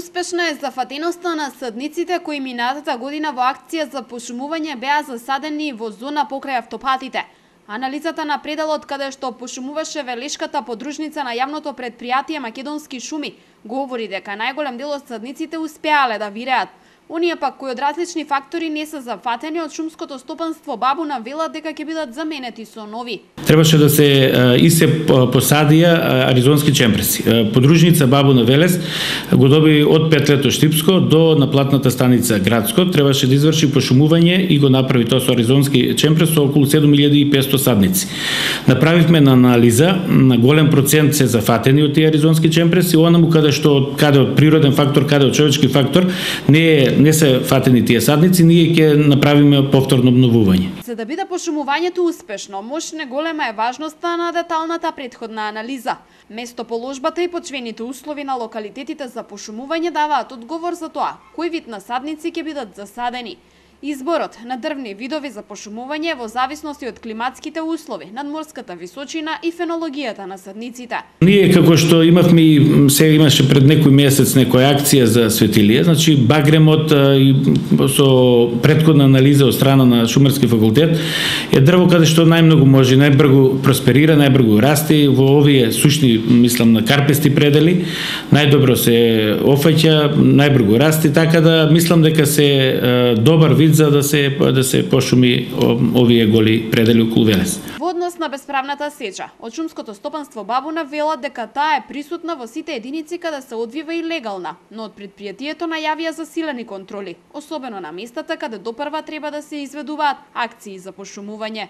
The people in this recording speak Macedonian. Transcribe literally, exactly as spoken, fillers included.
Успешна е зафатеноста на садниците кои минатата година во акција за пошумување беа засадени во зона покрај автопатите. Анализата на пределот каде што пошумуваше велешката подружница на јавното предпријатие Македонски шуми говори дека најголем дел од садниците успеале да виреат. Оние пак кои од различни фактори не се зафатени од шумското стопанство Бабуна велат дека ќе бидат заменети со нови. Требаше да се и се посадија аризонски чемпреси. Подружница Бабуна Велес го доби од петлето Штипско до наплатната станица Градско. Требаше да изврши пошумување и го направи тоа со аризонски чемпрес со околу седум илјади и петстотини садници. Направивме на анализа, на голем процент се зафатени од тие аризонски чемпреси, онаму каде што каде од природен фактор, каде од човечки фактор не е не се фатени тие садници, ние ќе направиме повторно обновување. За да биде пошумувањето успешно, мощна голема е важноста на деталната претходна анализа. Местоположбата и почвените услови на локалитетите за пошумување даваат одговор за тоа кој вид насадници ќе бидат засадени. Изборот на дрвни видови за пошумување во зависности од климатските услови, надморската височина и фенологијата на садниците. Ние како што имавме и се имаше пред некој месец некоја акција за светилија, значи багремот и со претходна анализа од страна на Шумарски факултет е дрво каде што најмногу може, најбрзо просперира, најбрзо расте во овие сушни, мислам на карпести предели, најдобро се офаќа, најбрзо расте, така да мислам дека се добар вид за да се да се пошуми овие голи предели околу Велес. Во однос на бесправната сеча, од шумското стопанство Бабуна велат дека таа е присутна во сите единици каде се одвива и легална, но од предпријатието најавија засилени контроли, особено на местата каде допрва треба да се изведуваат акции за пошумување.